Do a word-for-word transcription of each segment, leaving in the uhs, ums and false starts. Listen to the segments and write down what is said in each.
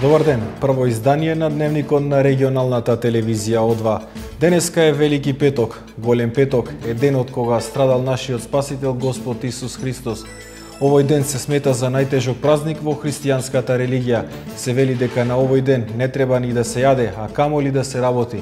Добар ден, прво издание на дневникот на регионалната телевизија О два. Денеска е Велики петок. Голем петок е денот кога страдал нашиот спасител Господ Исус Христос. Овој ден се смета за најтежок празник во христијанската религија. Се вели дека на овој ден не треба ни да се јаде, а камоли да се работи.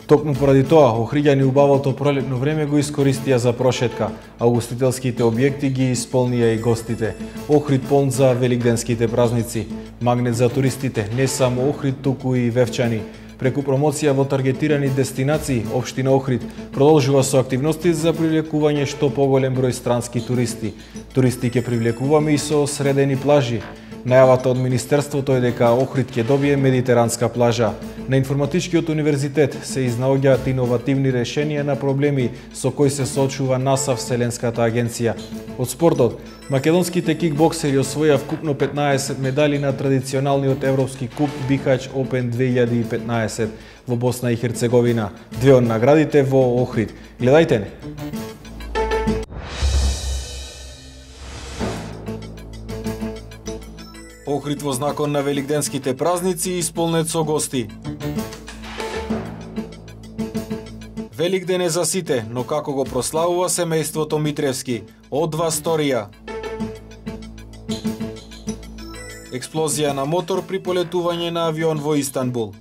Токму поради тоа, охриѓани убавото пролетно време го искористија за прошетка, а угостителските објекти ги исполнија и гостите. Охрид полн за великденските празници. Магнет за туристите, не само Охрид, туку и Вевчани. Преку промоција во таргетирани дестинации, општина Охрид продолжува со активности за привлекување што поголем број странски туристи. Туристи ќе привлекуваме и со средени плажи. Најавата од Министерството е дека Охрид ќе добие медитеранска плажа. На Информатичкиот универзитет се изнаоѓаат иновативни решенија на проблеми со кои се соочува НАСА Вселенската агенција. Од спортот, македонските кикбоксери освоја вкупно петнаесет медали на традиционалниот европски куп Бихач Опен две илјади и петнаесет во Босна и Херцеговина. Две од наградите во Охрид. Гледајте не! Охрид во знакот на великденските празници исполнет со гости. Великден е за сите, но како го прославува семејството Митревски? О два сторија. Експлозија на мотор при полетување на авион во Истанбул.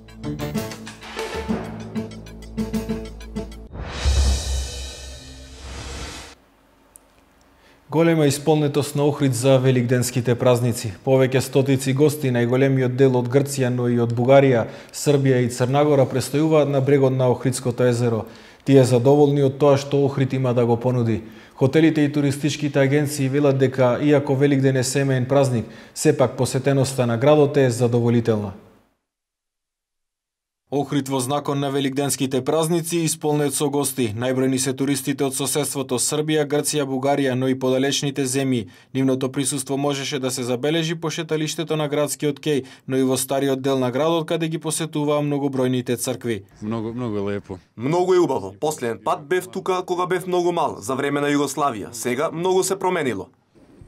Голема исполнетост на Охрид за великденските празници. Повеќе стотици гости, најголемиот дел од Грција, но и од Бугарија, Србија и Црнагора престојуваат на брегот на Охридското езеро. Тие задоволни од тоа што Охрид има да го понуди. Хотелите и туристичките агенции велат дека, иако Великден е семеен празник, сепак посетеноста на градот е задоволителна. Охрид во знакот на великденските празници исполнет со гости. Најбројни се туристите од соседството Србија, Грција, Бугарија, но и подалечните земји. Нивното присуство можеше да се забележи по шеталиштето на градскиот кеј, но и во стариот дел на градот каде ги посетуваа многобројните цркви. Многу многу лепо. Многу е убаво. Последен пат бев тука кога бев многу мал, за време на Југославија. Сега многу се променило.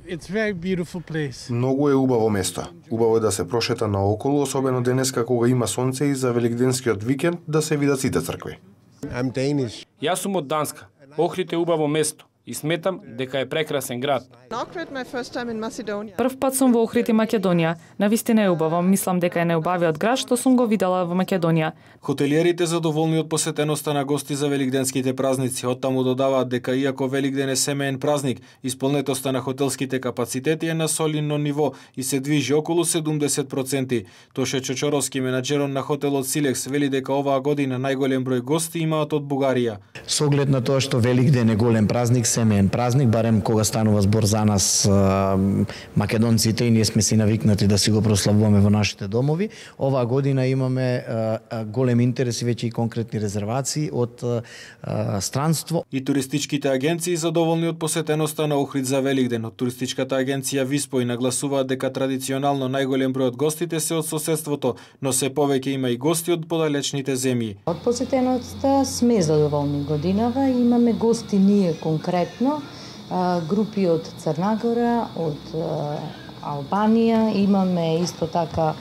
It's very beautiful place. Многу е убаво место. Убаво е да се прошета наоколу, особено денеска кога има сонце и за великденскиот викенд да се видат сите цркви. I'm Danish. Јас сум од Данска. Охрид е убаво место и сметам дека е прекрасен град. Прв пат сум во Охрид и Македонија. Навистина е убаво. Мислам дека е најубавиот град што сум го видела во Македонија. Хотелиерите задоволни од посетеноста на гости за великденските празници. Оттаму додаваат дека иако Великден е семеен празник, исполнетоста на хотелските капацитети е на солидно ниво и се движи околу седумдесет проценти. Тоше Чочоровски, менаџерот на хотелот Силекс, вели дека оваа година најголем број гости имаат од Бугарија. Со оглед на тоа што Великден е голем празник, семеен празник, барем кога станува збор за нас македонците и ние сме си навикнати да си го прославуваме во нашите домови, оваа година имаме голем интерес и веќе и конкретни резервации од странство. И туристичките агенции задоволни од посетеноста на Охрид за Великден. Од туристичката агенција Виспој нагласуваат дека традиционално најголем број од гостите се од соседството, но се повеќе има и гости од подалечните земји. Од посетеноста сме задоволни годинава, имаме гости ние конкретно, групи од Црнагора, од Албанија, имаме исто така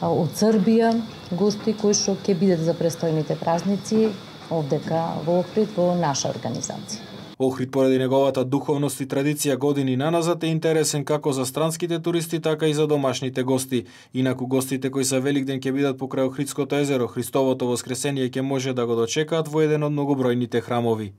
од Србија гости кои што ќе бидат за престојните празници овдека во Охрид во наша организација. Охрид поради неговата духовност и традиција години наназад е интересен како за странските туристи, така и за домашните гости. Инаку гостите кои за Великден ќе бидат покрај Охридското езеро, Христовото воскресение ќе може да го дочекаат во еден од многобројните храмови.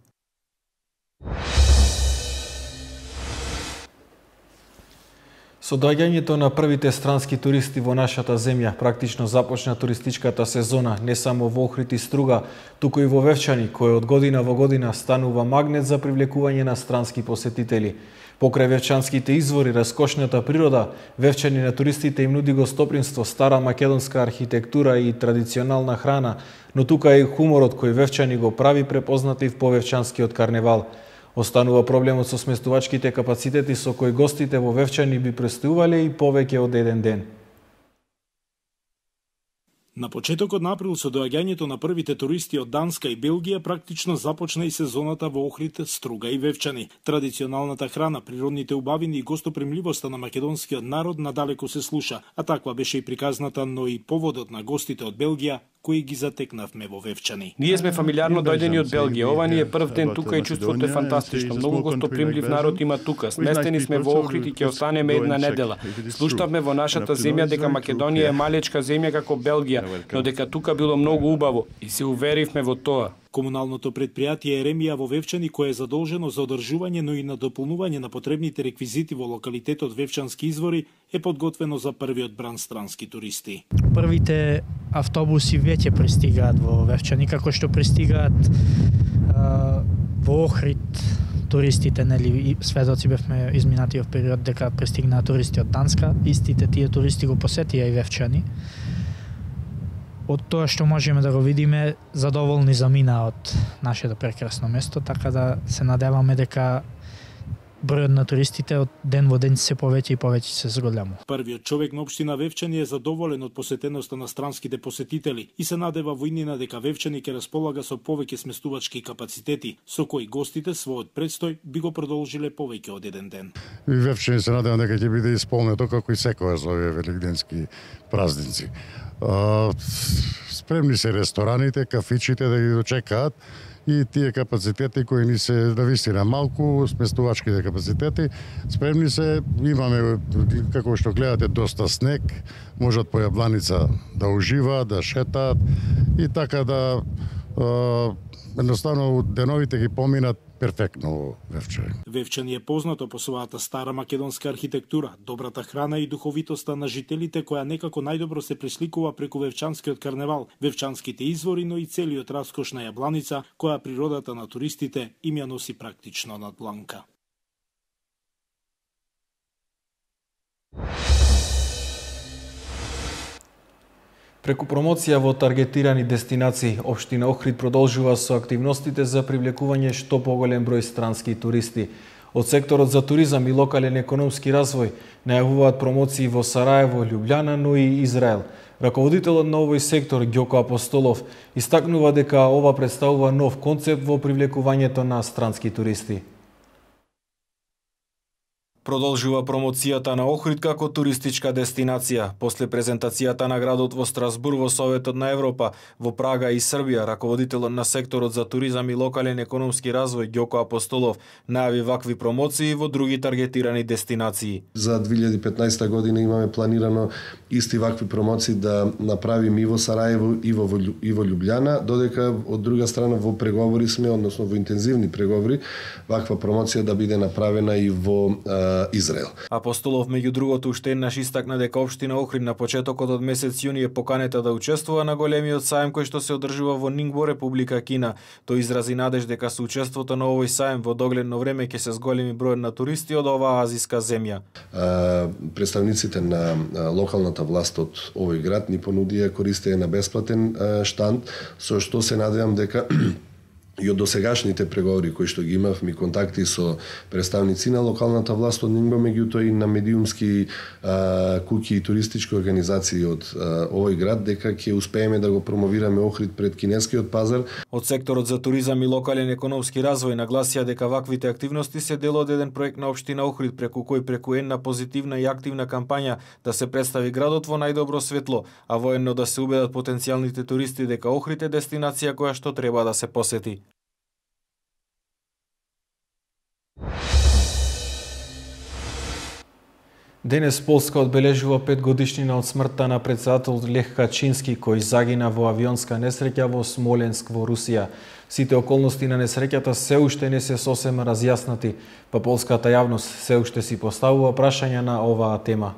Со доаѓањето на првите странски туристи во нашата земја, практично започна туристичката сезона не само во Охрид и Струга, туку и во Вевчани, кој од година во година станува магнет за привлекување на странски посетители. Покрај вевчанските извори, раскошната природа, Вевчани на туристите им нуди гостопримство, стара македонска архитектура и традиционална храна, но тука е и хуморот кој Вевчани го прави препознатлив по вевчанскиот карневал. Останува проблемот со сместувачките капацитети со кои гостите во Вевчани би престојувале и повеќе од еден ден. На почетокот на април со доаѓањето на првите туристи од Данска и Белгија практично започна и сезоната во Охрид, Струга и Вевчани. Традиционалната храна, природните убавини и гостопримливоста на македонскиот народ надалеку се слуша, а таква беше и приказната, но и поводот на гостите од Белгија кои ги затекнавме во Вевчани. Ние сме фамилиарно дојдени од Белгија. Ова ни е прв ден тука и чувството е фантастично. Многу гостопримлив народ има тука. Сместени сме во Охрид и ќе останеме една недела. Слуштавме во нашата земја дека Македонија е малечка земја како Белгија, но дека тука било многу убаво и се уверивме во тоа. Комуналното предпријатие Еремија во Вевчани, кое е задолжено за одржување, но и на дополнување на потребните реквизити во локалитетот Вевчански извори, е подготвено за првиот бран странски туристи. Првите автобуси веќе пристигаат во Вевчани, како што пристигаат а, во Охрид туристите, нели, сведоци бевме изминатиот период дека пристигнаа туристи од Данска, истите тие туристи го посетија и Вевчани. Од тоа што можеме да го видиме, задоволни замина од нашето прекрасно место, така да се надеваме дека бројот на туристите од ден во ден се повеќе и повеќе се зголему. Првиот човек на општина Вевчани е задоволен од посетеноста на странските посетители и се надева во иднина дека Вевчани ќе располага со повеќе сместувачки капацитети, со кои гостите својот предстој би го продолжиле повеќе од еден ден. И Вевчани се надевам дека ќе биде исполнето како и секогаш за овие великденски празници. Uh, спремни се рестораните, кафичите да ги дочекаат и тие капацитети кои ни се навистина малку, сместувачките капацитети, спремни се, имаме, како што гледате, доста снег, можат по Јабланица да уживаат, да шетаат и така да uh, едноставно деновите ги поминат перфектно во Вевчани. Вевчани е познато по својата стара македонска архитектура, добрата храна и духовитоста на жителите, која некако најдобро се пресликува преку Вевчанскиот карневал, Вевчанските извори, но и целиот раскош на Јабланица, која природата на туристите им ја носи практично над дланка. Преку промоција во таргетирани дестинации, општина Охрид продолжува со активностите за привлекување што поголем број странски туристи. Од секторот за туризам и локален економски развој најавуваат промоции во Сараево, Љубљана, но и Израел. Раководителот на овој сектор, Ѓоко Апостолов, истакнува дека ова представува нов концепт во привлекувањето на странски туристи. Продолжува промоцијата на Охрид како туристичка дестинација. После презентацијата на градот во Страсбур во Советот на Европа, во Прага и Србија, раководителот на секторот за туризам и локален економски развој Ѓоко Апостолов најави вакви промоции во други таргетирани дестинации. За две илјади и петнаесета година имаме планирано исти вакви промоции да направиме и во Сараево и во и во Љубљана, додека од друга страна во преговори сме, односно во интензивни преговори, ваква промоција да биде направена и во Израел. Апостолов меѓу другото уште еднаш истакна дека општина Охрид на почетокот од месец јуни е поканета да учествува на големиот сајм кој што се одржува во Нингбо, Република Кина. Тој изрази надеж дека со учеството на овој сајм во догледно време ќе се зголеми бројот на туристи од оваа азиска земја. Представниците на локалната власт од овој град ни понудија користење на бесплатен штанд, со што се надевам дека и од досегашните преговори кои што ги имавме контакти со представници на локалната власт од Нингбо, меѓутоа и на медиумски а, куќи и туристички организации од а, овој град, дека ќе успееме да го промовираме Охрид пред кинескиот пазар. Од секторот за туризам и локален економски развој нагласија дека ваквите активности се дел од еден проект на општина Охрид, преку кој преку една позитивна и активна кампања да се представи градот во најдобро светло, а воедно да се убедат потенцијалните туристи дека Охрид е дестинација која што треба да се посети. Денес Полска одбележува пет годишнина од смртта на претседателот Лех Качински, кој загина во авионска несреќа во Смоленск во Русија. Сите околности на несреќата се уште не се сосема разјаснати, па полската јавност се уште си поставува прашања на оваа тема.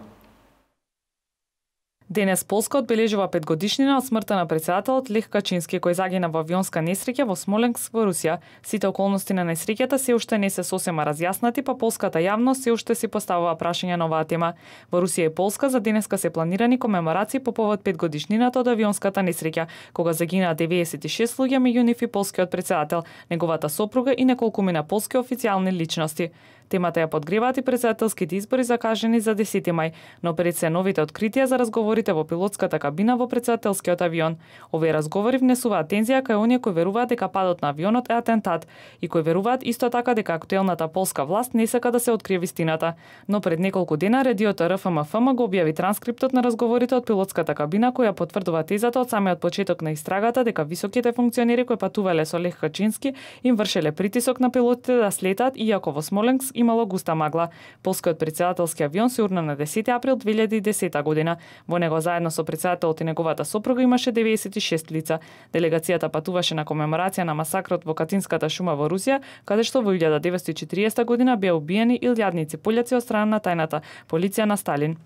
Денес Полска одбележува пет годишнина од смртта на претседателот Лех Качински, кој загина во авионска несреќа во Смоленск во Русија. Сите околности на несреќата се уште не се сосема разјаснати, па полската јавност се уште си поставува прашања на оваа тема. Во Русија и Полска за денеска се планирани комеморации по повод пет годишнината од авионската несреќа, кога загинаа деветдесет и шест луѓе, меѓу нив и полскиот претседател, неговата сопруга и неколкумина полски официјални личности. Темата ја подгреваат и претседателските избори закажани за десети мај, но пред се новите откритија за разговорите во пилотската кабина во претседателскиот авион. Овие разговори внесуваат тензија кај оние кои веруваат дека падот на авионот е атентат и кои веруваат исто така дека актуелната полска власт не сака да се открие вистината. Но пред неколку дена радиото Р Ф М Ф М го објави транскриптот на разговорите од пилотската кабина која потврдува тезата од самиот почеток на истрагата дека високите функционери кои патувале со Лех Качински им вршеле притисок на пилотите да слетат иако во Смоленск имало густа магла. Полскиот претседателски авион се урна на десети април две илјади и десета година. Во него заедно со претседателот и неговата сопруга имаше деветдесет и шест лица. Делегацијата патуваше на комеморација на масакрот во Катинската шума во Русија, каде што во илјада деветстотини и четиридесета година беа убиени илјадници пољаци од страна на тајната полиција на Сталин.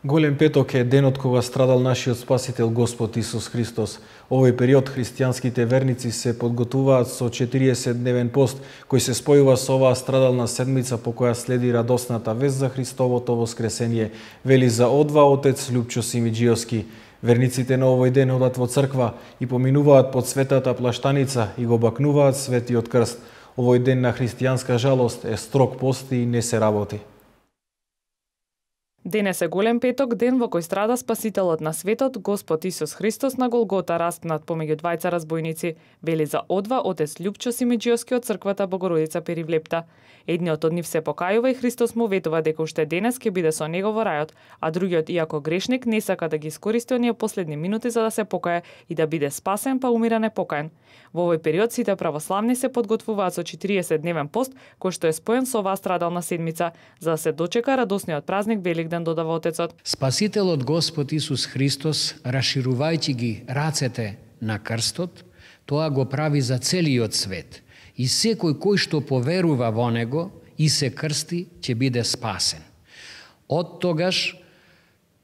Голем петок е денот кога страдал нашиот Спасител Господ Исус Христос. Овој период христијанските верници се подготвуваат со четириесетдневен пост, кој се спојува со оваа страдална седмица по која следи радосната вест за Христовото воскресение, вели за Одва отец Лјупчо Симиџиовски. Верниците на овој ден одат во црква и поминуваат под светата плаштаница и го бакнуваат светиот крст. Овој ден на христијанска жалост е строг пост и не се работи. Денес е голем петок, ден во кој страда Спасителот на светот, Господ Исус Христос на Голгота распнат помеѓу двајца разбойници, вели за Одва отец Лјупчо Симиџиовски од црквата Богородица Перивлепта. Едниот од нив се покајува и Христос му ветува дека уште денес ќе биде со него во рајот, а другиот, иако грешник, не сака да ги искористи оние последни минути за да се покае и да биде спасен, па умира непокаен. Во овој период сите православни се подготвуваат со четириесетдневен пост, кој што е споен со оваа страдална седмица, за да се дочека радосниот празник Великден, додава отецот. Спасителот Господ Исус Христос, раширувајќи ги рацете на крстот, тоа го прави за целиот свет. И секој кој што поверува во него и се крсти, ќе биде спасен. Од тогаш,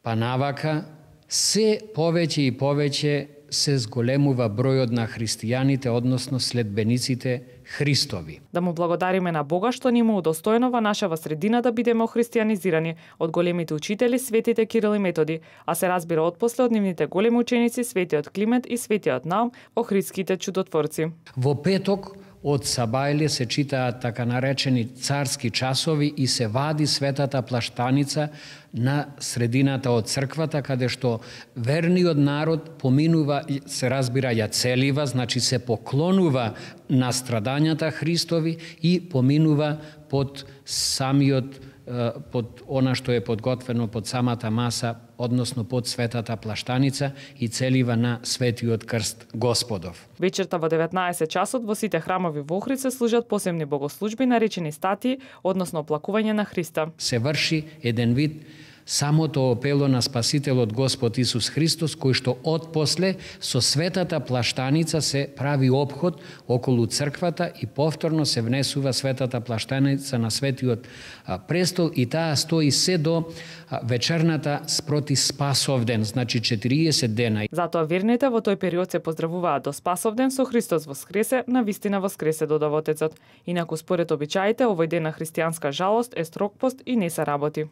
па навака, се повеќе и повеќе се зголемува бројот на христијаните, односно следбениците Христови. Да му благодариме на Бога што ни му удостоено во нашава средина да бидеме охристијанизирани од големите учители светите Кирил и Методи, а се разбира отпосле од нивните големи ученици светиот Климент и светиот Наум, охридските чудотворци. Во петок од Сабајле се читаат така наречени царски часови и се вади светата плаштаница на средината од црквата, каде што верниот народ поминува, се разбира, ја целива, значи се поклонува на страдањата Христови и поминува под самиот, под она што е подготвено под самата маса, односно под светата плаштаница и целива на светиот крст Господов. Вечерта во деветнаесет часот во сите храмови во Охрид се служат посебни богослужби наречени статии, односно оплакување на Христа. Се врши еден вид самото опело на Спасителот Господ Исус Христос, кој што отпосле со светата плаштаница се прави обход околу црквата и повторно се внесува светата плаштаница на светиот престол и таа стои се до вечерната спроти Спасовден, значи четириесет дена. Затоа верните во тој период се поздравуваат до Спасовден со Христос воскресе, на вистина воскресе, додава отецот. Инаку според обичаите, овој ден на христијанска жалост е строг пост и не се работи.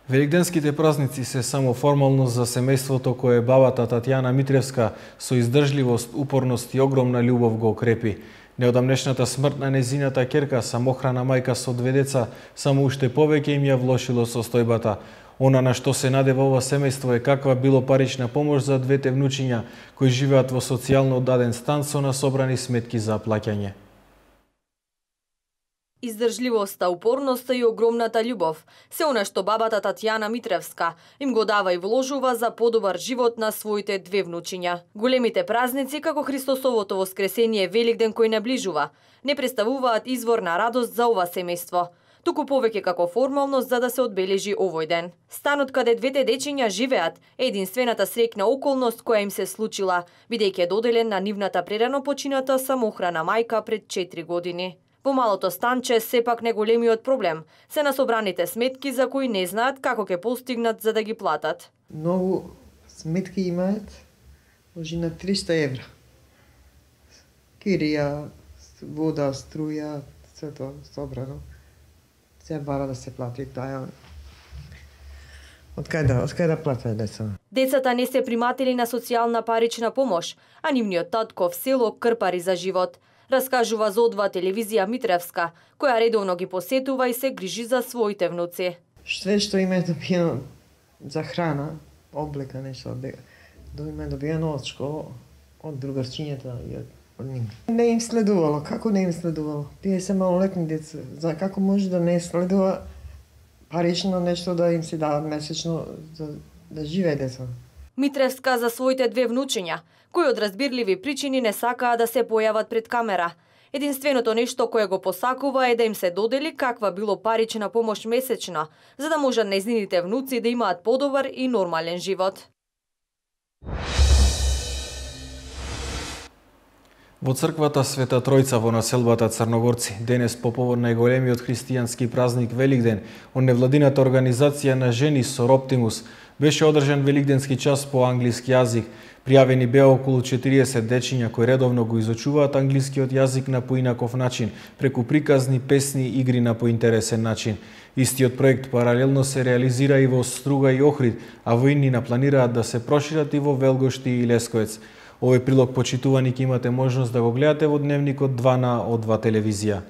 Великденските празници се само формално за семејството кое бабата Татјана Митревска со издржливост, упорност и огромна љубов го окрепи. Неодамнешната смрт на незината ќерка, самохрана мајка со две деца, само уште повеќе им ја влошило состојбата. Она на што се надева ова семејство е каква било парична помош за двете внучиња кои живеат во социјално даден стан со насобрани сметки за плаќање. Издржливоста, упорноста и огромната љубов, се она што бабата Татјана Митревска им го дава и вложува за подобар живот на своите две внучиња. Големите празници, како Христосовото воскресение Великден кој наближува, не представуваат извор на радост за ова семејство, туку повеќе како формалност за да се одбележи овој ден. Станот каде двете дечиња живеат е единствената среќна околност која им се случила, бидејќи е доделен на нивната прерано почината самохрана мајка пред четири години. Во малото станче сепак неголемиот проблем се насобраните сметки за кои не знаат како ќе постигнат за да ги платат. Многу сметки имаат, може на триста евра. Кирија, вода, струја, се тоа собрано. Се бара да се плати таа. Од кај да, од кај да платат деца? Децата не се приматели на социјална парична помош, а нивниот татко в село крпари за живот. Раскажува за О два телевизија Митревска, која редовно ги посетува и се грижи за своите внуци. Све што им е добиено за храна, облека, нешто, да им е добиено од школа, од другарчињата и од нив. Не им следувало, како не им следувало? Тие се малолетни деца, за како може да не следува парично нешто да им се дават месечно за да живее деца. Митревска за своите две внучиња, кои од разбирливи причини не сакаа да се појават пред камера. Единственото нешто кое го посакува е да им се додели каква било парична помош месечна, за да можат нејзините внуци да имаат подобар и нормален живот. Во црквата Света Тројца во населбата Црногорци, денес по повод најголемиот христијански празник Великден, од невладината организација на жени Сор Оптимус, беше одржан великденски час по англиски јазик. Пријавени беа околу четириесет дечиња кои редовно го изучуваат англискиот јазик на поинаков начин, преку приказни, песни, игри на поинтересен начин. Истиот проект паралелно се реализира и во Струга и Охрид, а во иднина планираат да се прошират и во Велгошти и Лесковец. Овој прилог, почитувани, ќе имате можност да го гледате во дневникот два на О два телевизија.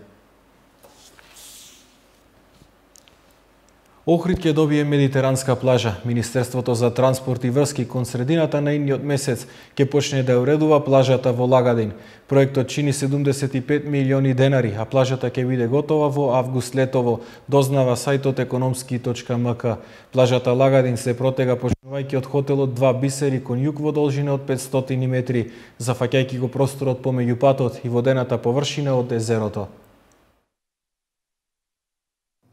Охрид ќе добие медитеранска плажа. Министерството за транспорт и врски кон средината на идниот месец ќе почне да уредува плажата во Лагадин. Проектот чини седумдесет и пет милиони денари, а плажата ќе биде готова во август летово, дознава сајтот економски точка ем ка. Плажата Лагадин се протега почнувајќи од хотелот Два бисери кон југ во должина од петстотини метри, зафаќајќи го просторот помеѓу патот и водената површина од езерото.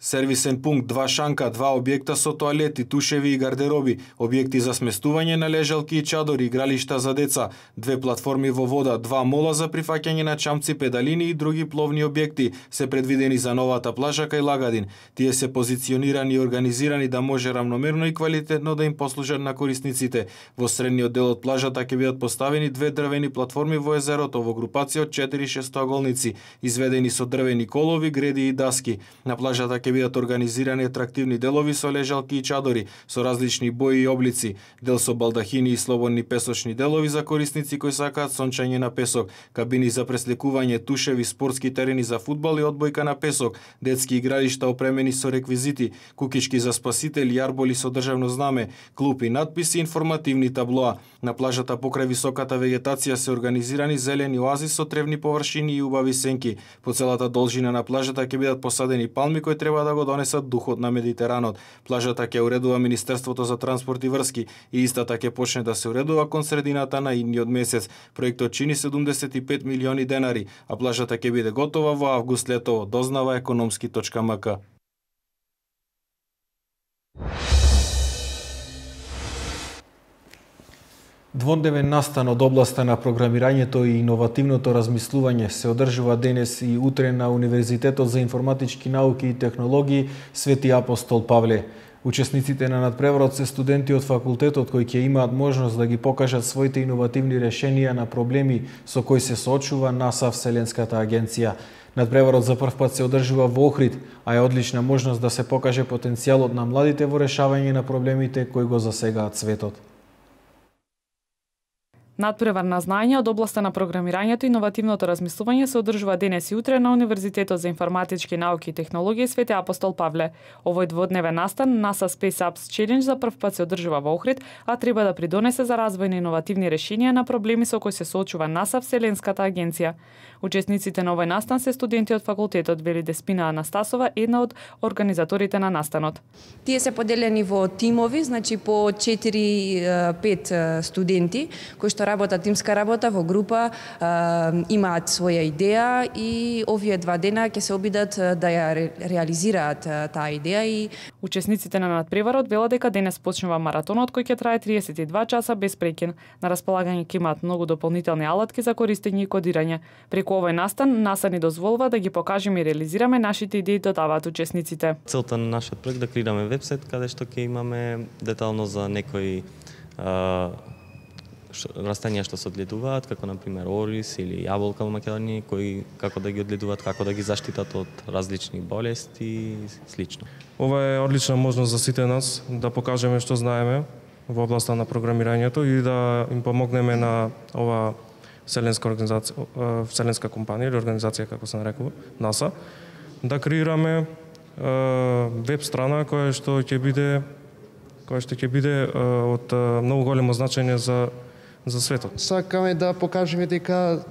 Сервисен пункт, два шанка, два објекта со тоалети, тушеви и гардероби, објекти за сместување на лежалки и чадори, игралишта за деца, две платформи во вода, два мола за прифаќање на чамци, педалини и други пловни објекти се предвидени за новата плажа кај Лагадин. Тие се позиционирани и организирани да може рамномерно и квалитетно да им послужат на корисниците. Во средниот дел од плажата ќе бидат поставени две дрвени платформи во езерото во групација од четири шестоаголници, изведени со дрвени колови, греди и даски. На плажата ќе бидат организирани атрактивни делови со лежалки и чадори, со различни бои и облици, дел со балдахини и слободни песочни делови за корисници кои сакаат сончање на песок, кабини за пресликување, тушеви, спортски терени за фудбал и одбојка на песок, детски игралишта опремени со реквизити, кукички за спасители, арболи со државно знаме, клупи, надписи и информативни таблоа. На плажата покрај високата вегетација се организирани зелени оази со тревни површини и убави сенки. По целата должина на плажата ќе бидат посадени палми кои треба да го донесат духот на Медитеранот. Плажата ќе уредува Министерството за транспорт и врски и истата ќе почне да се уредува кон средината на идниот месец. Проектот чини седумдесет и пет милиони денари, а плажата ќе биде готова во август летово, дознава економски точка ем ка. Дводневен настан од областа на програмирањето и иновативното размислување се одржува денес и утре на Универзитетот за информатички науки и технологии Свети Апостол Павле. Учесниците на надпреварот се студенти од факултетот кои ќе имаат можност да ги покажат своите иновативни решенија на проблеми со кои се соочува НАСА, Вселенската агенција. Надпреварот за прв пат се одржува во Охрид, а е одлична можност да се покаже потенцијалот на младите во решавање на проблемите кои го засегаат светот. Надпревар на знаење од областа на програмирањето и иновативното размислување се одржува денес и утре на Универзитетот за информатички науки и технологии Свети Апостол Павле. Овој дводневен настан NASA Space Apps Challenge за прв пат се одржува во Охрид, а треба да придонесе за развој на иновативни решенија на проблеми со кои се соочува НАСА, Вселенската агенција. Учесниците на овој настан се студенти од факултетот, вели Деспина Анастасова, една од организаторите на настанот. Тие се поделени во тимови, значи по четири пет студенти кои што работат тимска работа во група, имаат своја идеја и овие два дена ќе се обидат да ја реализираат таа идеја. И учесниците на надпреварот велат дека денес почнува маратонот кој ќе трае триесет и два часа без прекин. На располагање ќе имаат многу дополнителни алатки за користење и кодирање. Преку овој настан НАСА ни дозволува да ги покажеме и реализираме нашите идеи, додаваат учесниците. Целта на нашиот проект да креираме вебсайт каде што ќе имаме детално за некои а, растенија што се одгледуваат, како на пример орис или јаболка во Македонија, кои како да ги одгледуваат, како да ги заштитат од различни болести и слично. Ова е одлична можност за сите нас да покажеме што знаеме во областа на програмирањето и да им помогнеме на ова вселенска организација, вселенска компанија или организација како се нарекува, НАСА, да креираме веб страна која што ќе биде која што ќе биде од многу големо значење за за светот. Сакаме да покажеме дека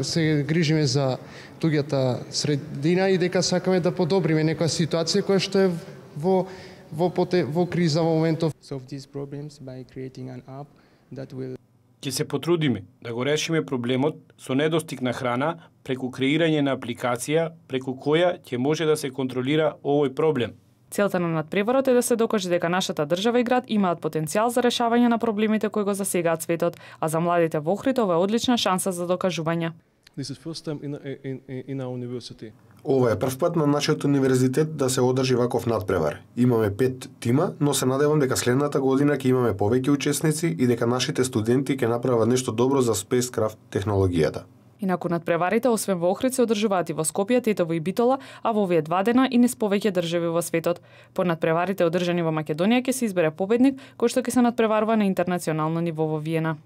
се грижиме за туѓата средина и дека сакаме да подобриме некоја ситуација која што е во во поте, во криза во моментов. Solve these problems by creating an app that will Ќе се потрудиме да го решиме проблемот со недостиг на храна преку креирање на апликација преку која ќе може да се контролира овој проблем. Целта на надпреварот е да се докаже дека нашата држава и град имаат потенцијал за решавање на проблемите кои го засегаат светот, а за младите во Охрид ова е одлична шанса за докажување. This is first time in, in, in our university. Ова е прв пат на нашиот универзитет да се одржи ваков надпревар. Имаме пет тима, но се надевам дека следната година ќе имаме повеќе учесници и дека нашите студенти ќе направат нешто добро за спейскрафт технологијата. Инаку надпреварите освен во Охрид се одржуваат и во Скопје, Тетово и Битола, а во овие два дена и низ повеќе држави во светот. По надпреварите одржани во Македонија ќе се избере победник кој што ќе се надпреварува на интернационално ниво во Виена.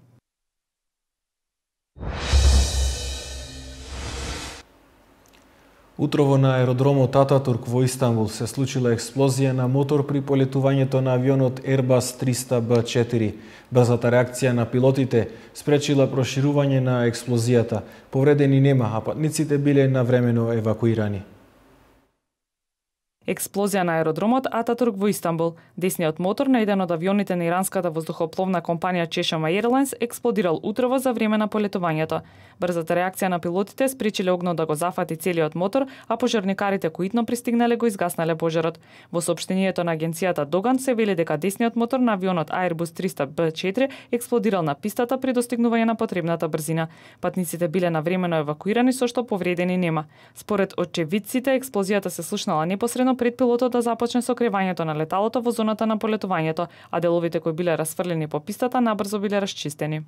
Утрово на аеродромот Ататурк во Истанбул се случила експлозија на мотор при полетувањето на авионот Airbus триста Б четири. Брзата реакција на пилотите спречила проширување на експлозијата. Повредени нема, а патниците биле навремено евакуирани. Експлозија на аеродромот Ататурк во Истанбул. Десниот мотор на еден од авионите на иранската воздухопловна компанија Chesham Airlines експлодирал утрово за време на полетувањето. Брзата реакција на пилотите спречиле огнот да го зафати целиот мотор, а пожарникарите кои итно пристигнале го изгаснале пожарот. Во соопштението на агенцијата Доган се вели дека десниот мотор на авионот Airbus триста Б четири експлодирал на пистата при достигнување на потребната брзина. Патниците биле навремено евакуирани со што повредени нема. Според очевидците, експлозијата се слушнала непосредно пред пилотот да започне сокревањето на леталото во зоната на полетувањето, а деловите кои биле расфрлени по пистата набрзо биле расчистени.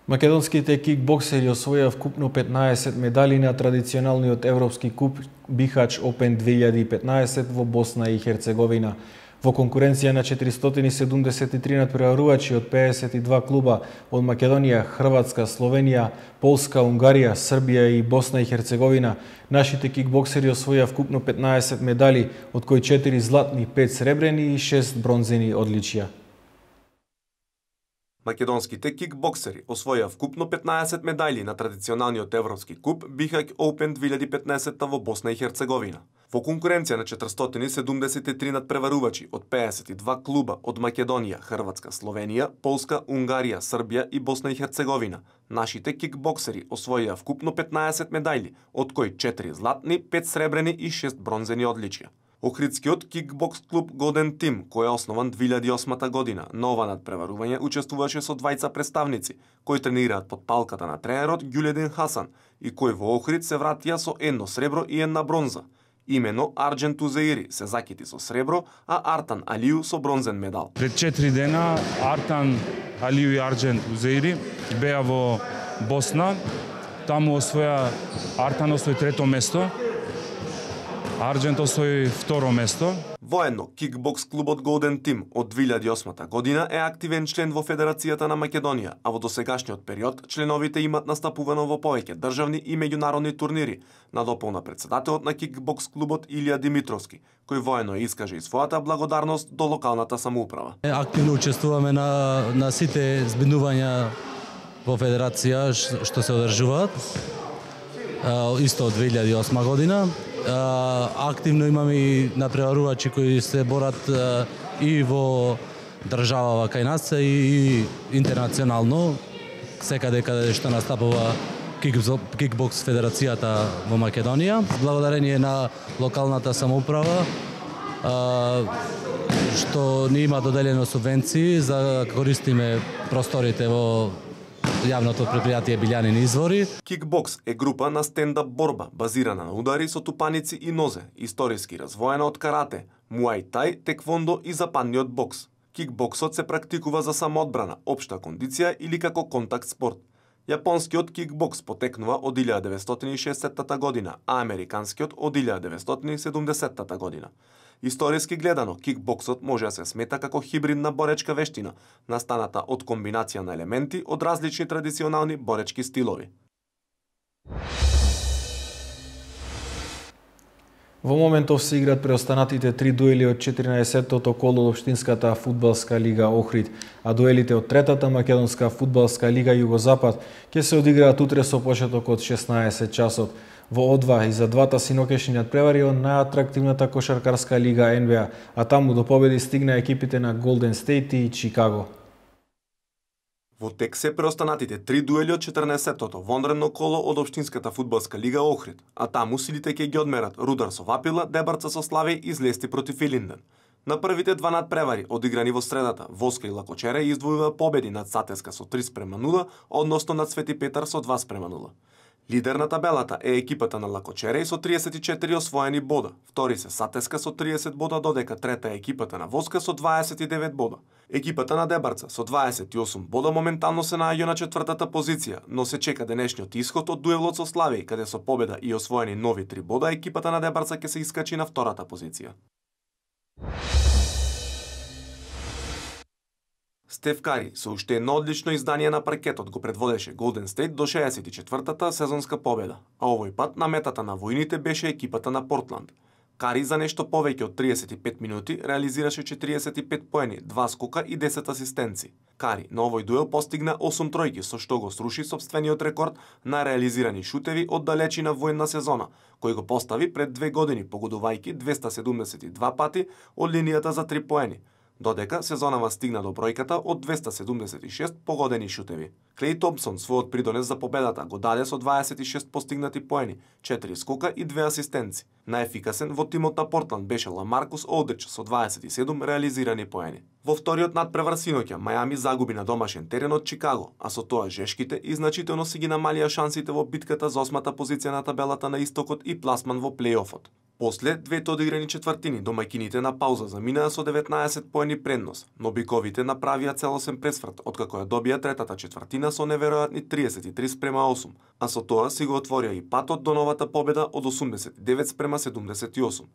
Македонските кикбоксери освоија вкупно петнаесет медали на традиционалниот европски куп Бихач Опен две илјади и петнаесет во Босна и Херцеговина. Во конкуренција на четиристотини седумдесет и три надпреварувачи од пеесет и два клуба од Македонија, Хрватска, Словенија, Полска, Унгарија, Србија и Босна и Херцеговина, нашите кикбоксери освоија вкупно петнаесет медали, од кои четири златни, пет сребрени и шест бронзени одличија. Македонските кикбоксери освоја вкупно петнаесет медали на традиционалниот европски куп Бихач Опен две илјади и петнаесет во Босна и Херцеговина. Во конкуренција на четиристотини седумдесет и три надпреварувачи од пеесет и два клуба од Македонија, Хрватска, Словенија, Полска, Унгарија, Србија и Босна и Херцеговина, нашите кикбоксери освоија вкупно петнаесет медали, од кои четири златни, пет сребрени и шест бронзени одличија. Охридскиот кикбокс клуб Golden Team, кој е основан две илјади и осма година, на ова надпреварување учествуваше со двајца представници, кои тренираат под палката на тренерот Гюледин Хасан и кои во Охрид се вратија со едно сребро и една бронза. Имено Арџен Тузеири се закити со сребро, а Артан Алију со бронзен медал. Пред четири дена Артан Алију и Арџен Тузеири беа во Босна, таму освоја Артан освои трето место, Арџент освои второ место. Воедно, кикбокс клубот Golden Team од две илјади и осма година е активен член во Федерацијата на Македонија, а во досегашниот период членовите имат настапувано во повеќе државни и меѓународни турнири, надополна председателот на кикбокс клубот Илија Димитровски, кој воено искаже и својата благодарност до локалната самоуправа. Активно учествуваме на, на сите збинувања во Федерација што се одржуваат, исто од две илјади и осма година. Активно имаме и надпреварувачи кои се борат и во државава кај нас и, и интернационално, секаде каде што настапува кикбокс федерацијата во Македонија. Благодарение на локалната самоуправа што ни има доделено субвенции за да користиме просторите во јавното предпријатие Билјанини извори. Кикбокс е група на стендап борба, базирана на удари со тупаници и нозе, историски развоена од карате, муај тај, теквондо и западниот бокс. Кикбоксот се практикува за самоодбрана, општа кондиција или како контакт спорт. Јапонскиот кикбокс потекнува од илјада деветстотини и шесдесетта година, а американскиот од илјада деветстотини и седумдесетта година. Историски гледано, кикбоксот може да се смета како хибридна боречка вештина, настаната од комбинација на елементи од различни традиционални боречки стилови. Во моментов се играат преостанатите три дуели од четиринаесеттото коло од Општинската фудбалска лига Охрид, а дуелите од третата македонска фудбалска лига Југозапад ќе се одиграат утре со почеток од шеснаесет часот. Во О два и за двата синокешни надпревари од најатрактивната кошаркарска лига Н Б А, а таму до победи стигна екипите на Голден Стейт и Чикаго. Во тек се преостанатите три дуели од четрнаесеттото вонредно коло од Општинската фудбалска лига Охрид, а таму силите ќе ги одмерат Рудар со Вапила, Дебарца со Славеј и Злести против Илинден. На првите два надпревари, одиграни во средата, Воска и Лакочере издвојува победи над Сатеска со три спрема нула, односно над Свети Петар со два спрема нула. Лидер на табелата е екипата на Лакочере со триесет и четири освоени бода. Втори се Сатеска со триесет бода, додека трета е екипата на Воска со дваесет и девет бода. Екипата на Дебарца со дваесет и осум бода моментално се наоѓа на четвртата позиција, но се чека денешниот исход од дуелот со Славеј, каде со победа и освоени нови три бода, екипата на Дебарца ќе се искачи на втората позиција. Стеф Кари со уште едно одлично издание на паркетот го предводеше Голден Стейт до шеесет и четвртата сезонска победа, а овој пат на метата на војните беше екипата на Портланд. Кари за нешто повеќе од триесет и пет минути реализираше четириесет и пет поени, два скока и десет асистенци. Кари на овој дуел постигна осум тројки, со што го сруши сопствениот рекорд на реализирани шутеви од далечина војна сезона, кој го постави пред две години, погодувајќи двеста седумдесет и два пати од линијата за три поени, додека сезонава стигна до бројката од двеста седумдесет и шест погодени шутеви. Клеј Томпсон својот придонес за победата го даде со дваесет и шест постигнати поени, четири скока и две асистенци. Најефикасен во тимот на Портланд беше Ламаркус Олдрич со дваесет и седум реализирани поени. Во вториот надпревар синоќа Мајами загуби на домашен терен од Чикаго, а со тоа жешките и значително си ги намалија шансите во битката за осмата позиција на табелата на истокот и пласман во плејофот. После двете одиграни четвртини домаќините на пауза заминаа со деветнаесет поени предност, но биковите направија целосен пресврт откако ја добија третата четвртина со неверојатни триесет и три спрема осум, а со тоа си го отворија и патот до новата победа од осумдесет и девет спрема седумдесет и осум.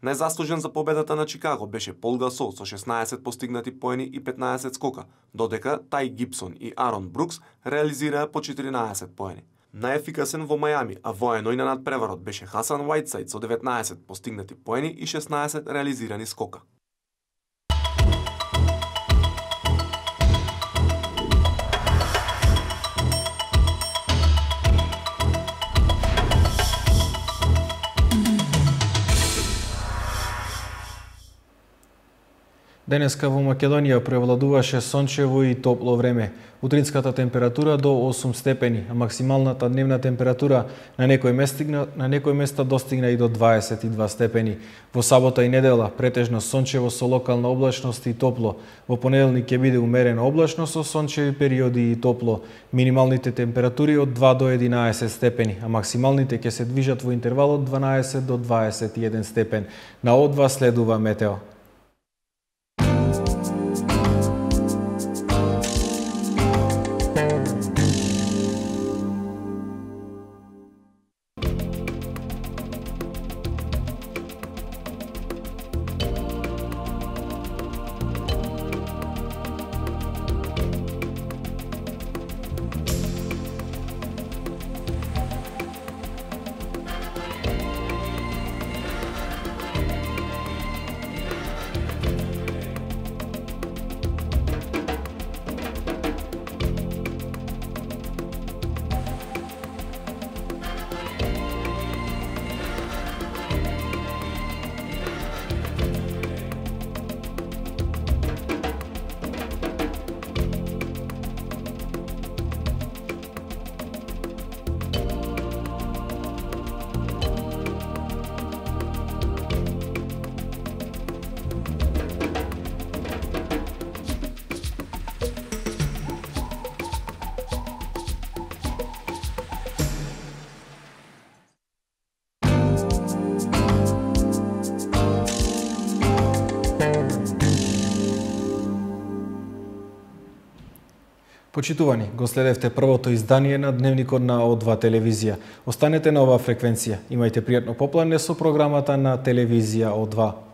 Најзаслужен за победата на Чикаго беше Пол Гасол со шеснаесет постигнати поени и петнаесет скока, додека Тај Гибсон и Арон Брукс реализираа по четиринаесет поени. Најефикасен во Мајами, а воено и на надпреварот беше Хасан Уајтсайд со деветнаесет постигнати поени и шеснаесет реализирани скока. Денеска во Македонија превладуваше сончево и топло време. Утринската температура до осум степени, а максималната дневна температура на некои места, на некои места достигна и до дваесет и два степени. Во сабота и недела претежно сончево со локална облачност и топло. Во понеделник ќе биде умерена облачност со сончеви периоди и топло. Минималните температури од два до единаесет степени, а максималните ќе се движат во интервал од дванаесет до дваесет и еден степен. На О два следува метео. Почитувани, го следевте првото издание на Дневникот на О два телевизија. Останете на оваа фреквенција. Имајте пријатно поплане со програмата на телевизија О два.